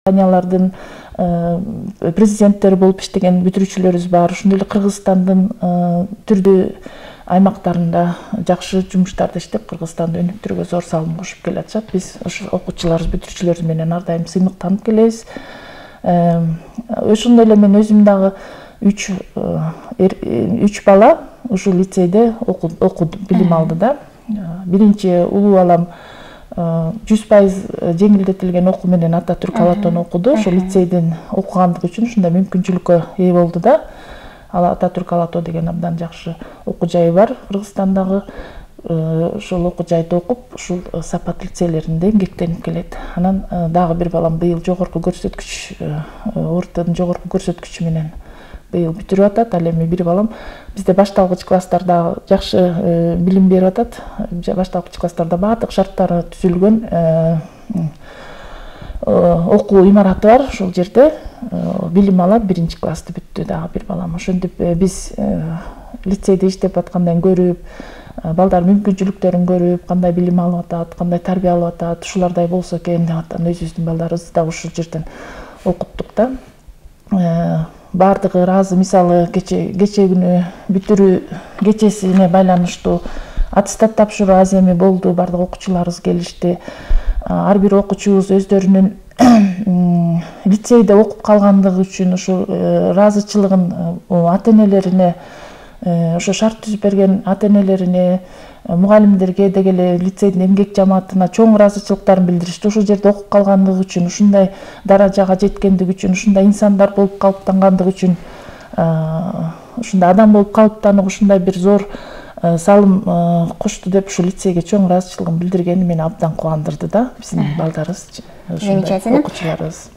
компаниялардын президенттери болуп иштеген бүтүрүүчүлөрүбүз бар. Ошондой эле Кыргызстандын түрдүү аймактарында жакшы жумуштарды иштеп, Кыргызстанды өнүктүрүүгө зор салым кошуп келатышат. Биз ошо окуучуларыбыз, бүтүрүүчүлөрүбүз менен ар дайым сыймыктанып келебиз. Ошондой эле мен өзүм дагы 3 бала ушул лицейде окуду, билим алды да. Биринчи улуу балам 100% жеңилдетилген окуу менен Ататүрк Алатону окуду. Ошол лицейден окугандыгы үчүн ушундай мүмкүнчүлүккө ээ болду да. Ал Ататүрк Алато деген абдан жакшы окуу жайы бар Кыргызстандагы. Ошол окуу жайда окуп, ушул Сапат лицейлеринде эмгектенип келет. Анан дагы бир балам быйыл жогорку көрсөткүч, ОРТдун жогорку көрсөткүчү менен быйыл бүтүрүп атат. Ал эми бир балам бизде башталгыч класстарда жакшы билим берип атат. Башталгыч класстарда баардык шарттары түзүлгөн окуу имараты бар. Ошол жерде билим алат, 1-классты бүттү дагы бир балам. Ошентип биз лицейде иштеп аткандан көрүп, балдар мүмкүнчүлүктөрүн көрүп, кандай билим алып атат, кандай тарбия алып атат, ушулардай болсо экен деп атам. Өзүбүздүн балдарыбызды дагы ушул жерден окуттук да. Баардыгы ыраазы. Мисалы кече күнү бүтүрүү кечесине байланыштуу аттестат тапшыруу аземи болду. Баардык окуучуларыбыз келишти. Ар бир окуучубуз өздөрүнүн лицейде окуп калгандыгы үчүн ушул ыраазычылыгын ата-энелерине, ошо шарт түзүп берген ата-энелерине, мугалимдерге деги эле лицейдин эмгек жамаатына чоң ыраазычылыктарын билдиришти. Ушул жерде окуп калгандыгы үчүн, ушундай даражага жеткендиги үчүн, ушундай инсандар болуп калыптангандыгы үчүн, ушундай адам болуп калыптанып, ушундай бир зор салым кошту деп ушул лицейге чоң ыраазычылыгын билдиргени мени абдан кубандырды да, биздин балдарыбыз. Замечательно.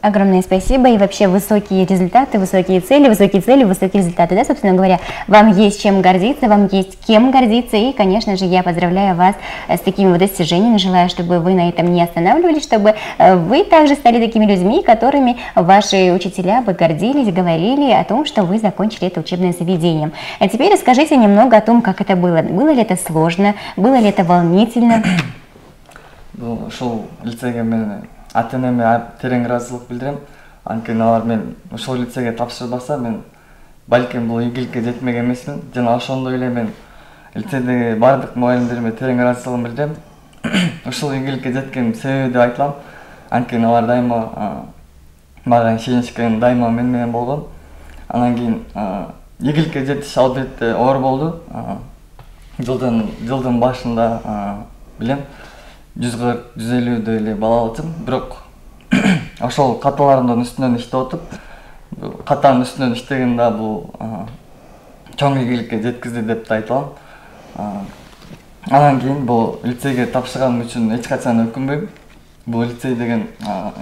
Огромное спасибо. И вообще высокие результаты, высокие цели, высокие результаты, да, собственно говоря. Вам есть чем гордиться, вам есть кем гордиться. И, конечно же, я поздравляю вас с такими вот достижениями. Желаю, чтобы вы на этом не останавливались, чтобы вы также стали такими людьми, которыми ваши учителя бы гордились, говорили о том, что вы закончили это учебное заведение. А теперь расскажите немного о том, как это было. Было ли это сложно, было ли это волнительно? Ушул лицейге мен ата-энеме терең ыраазычылык билдирем. Анткени алар мен ушул лицейге тапшырбаса, мен балким бул ийгиликке жетмек эмесмин. Жана ошондой эле мен лицейдеги баардык мугалимдериме терең ыраазычылыгымды билдирем. Ушул ийгиликке жеткен себеби деп айтылам. Анткени алар дайыма мага ишенишкен, дайыма мен менен болгон. Анан кийин ийгиликке жетиш албетте оор болду. Жылдын башында билем 140-150 эле бала алчым, бирок ошол каталарымдын үстүнөн иштеп отуп, катанын үстүнөн иштеген да бул чоң ийгиликке жеткизди деп да айта алам. Анан кийин бул лицейге тапшырганым үчүн эч качан өкүнбөйм. Бул лицей деген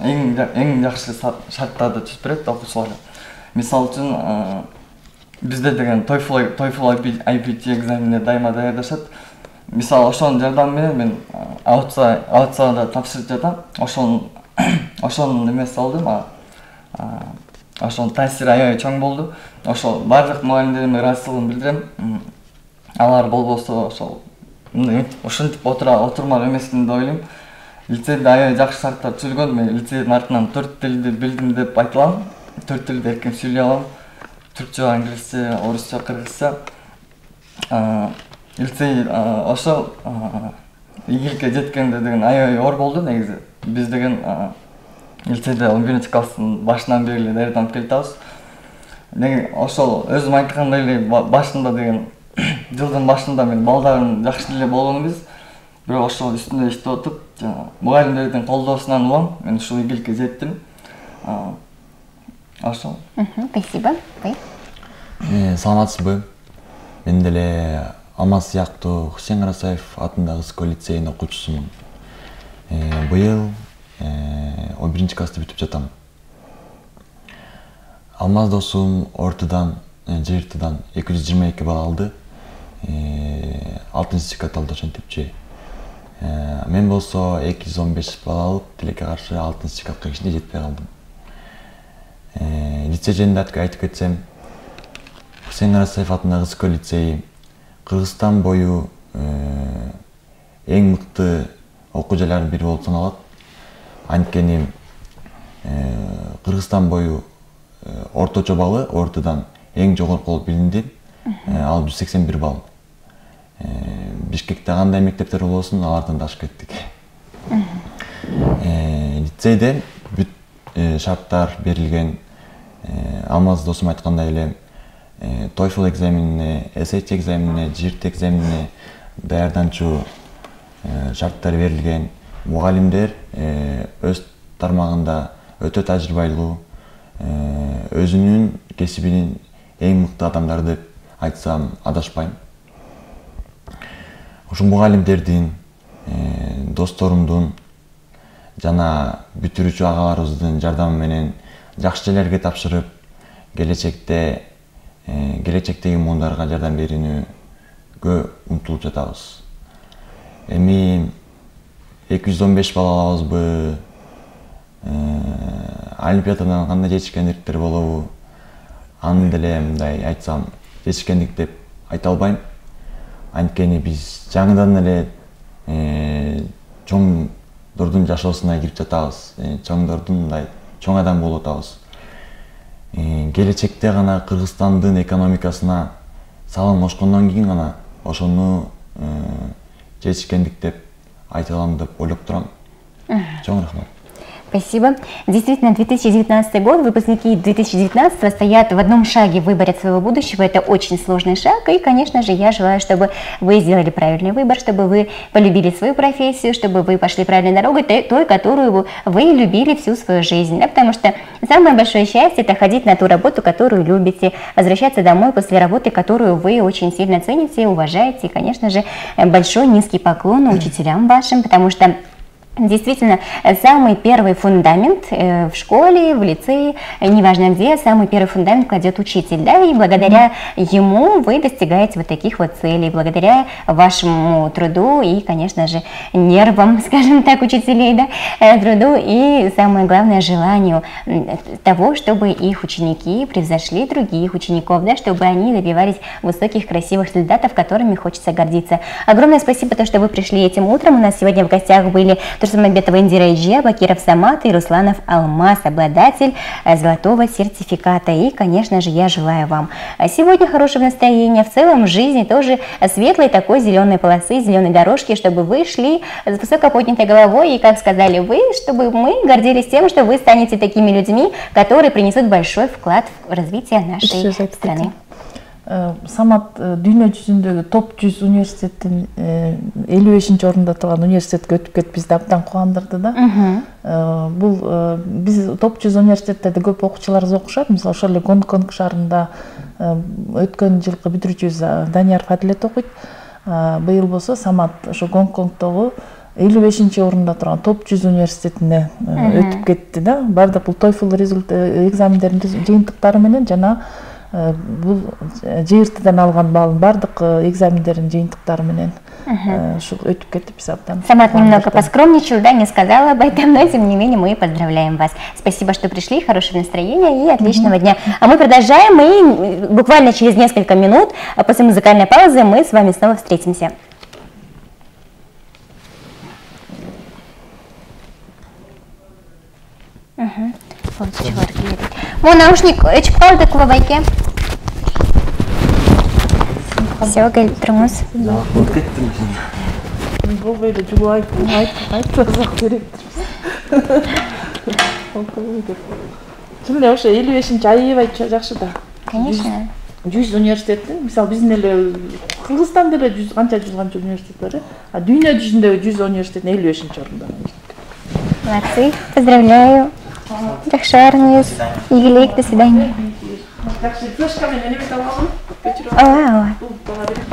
эң жакшы шарттарды түзүп берет окуучуларга. Мисалы үчүн бизде деген TOEFL IPT экзаменине дайыма даярдашат. Мисалы ошонун жардамы менен мен аутсада тапшырып жатам. Ошонун эмеси болду мага. Ошонун таасири аябай чоң болду. Ошол бардык мугалимдериме ыраазычылыгымды билдирем. Алар болбосо ошол ушинтип отурмак эмесмин деп ойлойм. Лицейде аябай жакшы шарттар түзүлгөн. Мен лицейдин артынан 4 тилди билдим деп айта алам. 4 тилди эркин сүйлөй алам. Түркчө, англисче, орусча, кыргызча. Лицей ошол ийгиликке жеткенде деген аябай оор болду негизи. Биз деген лицейде 11-класстын башынан бери эле даярданып келатабыз. Ошол өзүм айткандай эле башында деген жылдын башында мен балдардын жакшы эле болгонубуз. Бирок ошол үстүндө иштеп отуп, мугалимдердин колдоосунан улам мен ушул ийгиликке жеттим. Ошол. Спасибо. Саламатсызбы? Мен деле Алмаз сыяктуу Хусейн Карасаев атындагы Ысык лицейинин окуучусумун. Быйыл 11-классты бүтүп жатам. Алмаз досум ортудан, жыртыдан 222 балл алды. 6-сертификат алды ошентипчи. Мен болсо 215 балл алып, тилекке каршы 6-сертификатка кичине жетпей калдым. Лицей жөнүндө айтып кетсем, Хусейн Карасаев атындагы Ысык лицейи Кыргызстан бою эң мыкты окуу жайлардын бири болуп саналат. Анткени Кыргызстан бою орточо баллы ортодан эң жогорку болуп билинди. Ал 181 балл. Бишкекте кандай мектептер болсун, алардан да ашып кеттик. Лицейде бүт шарттар берилген. Алмаз досум айткандай эле TOEFL экзаменине, SAT экзаменине, JIRT экзаменине даярданчу шарттар берилген. Мугалимдер өз тармагында өтө тажрыйбалуу, өзүнүн кесибинин эң мыкты адамдары деп айтсам адашпайм. Ошо мугалимдердин, досторумдун жана бүтүрүүчү агаларыбыздын жардамы менен жакшы жерлерге тапшырып, келечектеги муундарга жардам берүүгө умтулуп жатабыз. Эми 215 балл алабызбы? Олимпиададан кандай жетишкендиктер болобу? Аны деле мындай айтсам, жетишкендик деп айта албайм. Анткени биз жаңыдан эле чоңдордун жашоосуна кирип жатабыз. Чоңдордун мындай чоң адам болуп атабыз. Келечекте гана Кыргызстандын экономикасына салым кошкондон кийин гана ошону жетишкендик деп айта алам деп ойлоп турам. Чоң рахмат. Спасибо. Действительно, 2019 год, выпускники 2019 стоят в одном шаге в выборе своего будущего. Это очень сложный шаг. И, конечно же, я желаю, чтобы вы сделали правильный выбор, чтобы вы полюбили свою профессию, чтобы вы пошли правильной дорогой, той, которую вы любили всю свою жизнь. Да? Потому что самое большое счастье – это ходить на ту работу, которую любите, возвращаться домой после работы, которую вы очень сильно цените, уважаете. И, конечно же, большой низкий поклон учителям вашим, потому что действительно, самый первый фундамент в школе, в лицее, неважно где, самый первый фундамент кладет учитель, да, и благодаря ему вы достигаете вот таких вот целей, благодаря вашему труду и, конечно же, нервам, скажем так, учителей, да, труду и, самое главное, желанию того, чтобы их ученики превзошли других учеников, да, чтобы они добивались высоких, красивых результатов, которыми хочется гордиться. Огромное спасибо, то, что вы пришли этим утром. У нас сегодня в гостях были Турсунбекова Индира Иджия, Бакиров Самат и Русланов Алмаз, обладатель золотого сертификата. И, конечно же, я желаю вам сегодня хорошего настроения, в целом в жизни тоже светлой такой зеленой полосы, зеленой дорожки, чтобы вы шли с высоко поднятой головой и, как сказали вы, чтобы мы гордились тем, что вы станете такими людьми, которые принесут большой вклад в развитие нашей страны. Самат дүйнө жүзүндөгү топ 100 университеттин 55 орунда турган университетке өтүп кетип бизди абдан кубандырды да. Бул биз топ 100 университеттерде көп окуучуларыбыз окушат. Мисалы ошол эле Гонконг шаарында өткөн жылкы бүтүрүүчүбүз Данияр Фадилет окуйт. Быйыл болсо Самат ошо Гонконгдогу 55 орунда турган топ 100 университетине өтүп кетти да. Бардык бул TOEFL экзамендеринин жыйынтыктары менен жана бул JIRT'дан алган баллын бардык экзамендердин жыйынтыктары менен ушул өтүп кетип биз абдан. Самат немного поскромничал, да, не сказала об этом, но тем не менее мы поздравляем вас. Спасибо, что пришли, хорошего настроения и отличного дня. А мы продолжаем, и буквально через несколько минут после музыкальной паузы мы с вами снова встретимся. Мой наушник өчүп калды клубайке. Все, келип турмуз. Болбойду, жугуп айтпасак керектир. Чын эле ошо 55-чи аябай жакшы да. Конечно. 100 университеттин, мисалы биздин эле Кыргызстанда эле 100 канча университет бар, а дүйнө жүзүндөгү 100 университеттин 55-чи орунда. Молодцы, поздравляю. Жақшарыңыз, игілік, до свидания. Жақсы, флешкамен элемет алғанмын. Ала, бұл бала береді.